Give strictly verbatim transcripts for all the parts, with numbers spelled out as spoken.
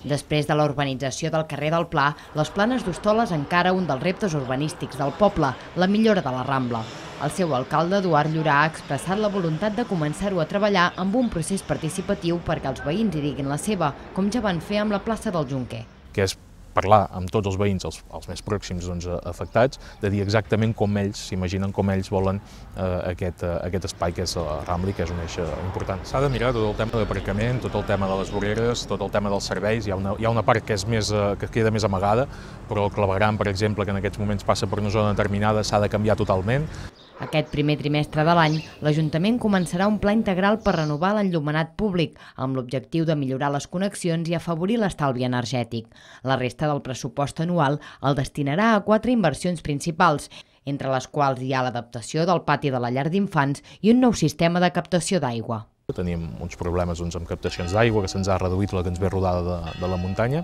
Després de la urbanització del carrer del Pla, les Planes d'Hostoles encara un dels reptes urbanístics del poble, la millora de la Rambla. El seu alcalde, Eduard Llorà, ha expressat la voluntat de començar-ho a treballar amb un procés participatiu perquè els veïns hi diguin la seva, com ja van fer amb la plaça del Jonquer. Que és parlar amb tots els veïns, els, els més pròxims doncs, afectats, de dir exactament com ells s'imaginen, com ells volen eh, aquest, eh, aquest espai que és la Rambla i que és un eix important. S'ha de mirar tot el tema d'aparcament, tot el tema de les voreres, tot el tema dels serveis. Hi ha una, hi ha una part que, és més, eh, que queda més amagada, però el clavegueram, per exemple, que en aquests moments passa per una zona determinada, s'ha de canviar totalment. Aquest primer trimestre de l'any, l'Ajuntament començarà un pla integral per renovar l'enllumenat públic, amb l'objectiu de millorar les connexions i afavorir l'estalvi energètic. La resta del pressupost anual el destinarà a quatre inversions principals, entre les quals hi ha l'adaptació del pati de la llar d'infants i un nou sistema de captació d'aigua. Teníem uns problemes doncs, amb captacions d'aigua, que se'ns ha reduït la que ens ve rodada de, de la muntanya,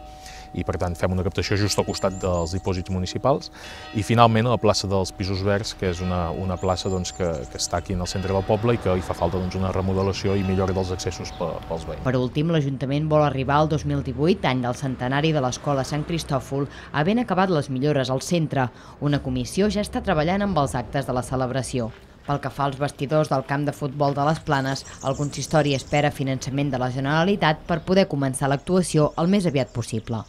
i per tant fem una captació just al costat dels dipòsits municipals. I finalment a la plaça dels Pisos Verds, que és una, una plaça doncs, que, que està aquí en el centre del poble i que hi fa falta doncs, una remodelació i millora dels accessos pels veïns. Per últim, l'Ajuntament vol arribar al dos mil divuit, any del centenari de l'Escola Sant Cristòfol, havent acabat les millores al centre. Una comissió ja està treballant amb els actes de la celebració. Pel que fa als vestidors del camp de futbol de les Planes, el consistori espera finançament de la Generalitat per poder començar l'actuació el més aviat possible.